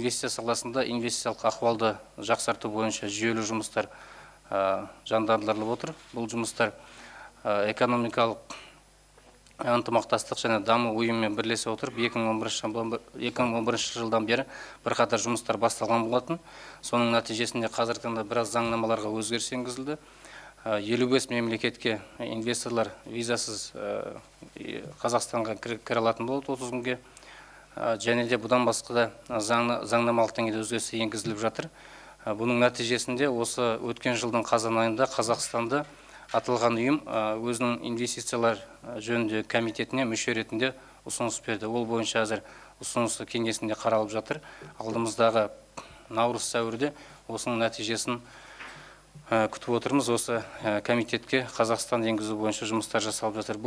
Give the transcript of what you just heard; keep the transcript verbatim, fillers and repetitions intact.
инвестиция саласында инвестициялық ахуалды жақсарту бойынша жүйелі жұмыстар жандандырылып отыр. Бұл жұмыстар экономикалық ынтымақтастық және даму ұйымымен бірлесе отырып екі мың он бірінші жылдан бері бірқатар жұмыстар басталған болатын. Соның нәтижесінде қазіргі таңда біраз заңнамаларға өзгеріс енгізілді. елу бес мемлекетке инвесторлар визасыз Қазақстанға кіре алатын болады отыз күнге. Және де бұдан басқа да заңнамалық деңгейде өзгеріс енгізіліп жатыр. Бұның нәтижесінде осы өткен жылдың қазан айында Қазақстанда аталған ұйым өзінің инвестициялар жөніндегі комитетіне мүше ретінде ұсыныс берді. Ол бойынша әзір ұсынысы кеңесінде қаралып жатыр. Алдымыздағы наурыз сәуірде осының нәтижесін күтіп отырмыз. Осы комитетке Қазақстан енгізу бойынша жұмыстар жасалып жатыр.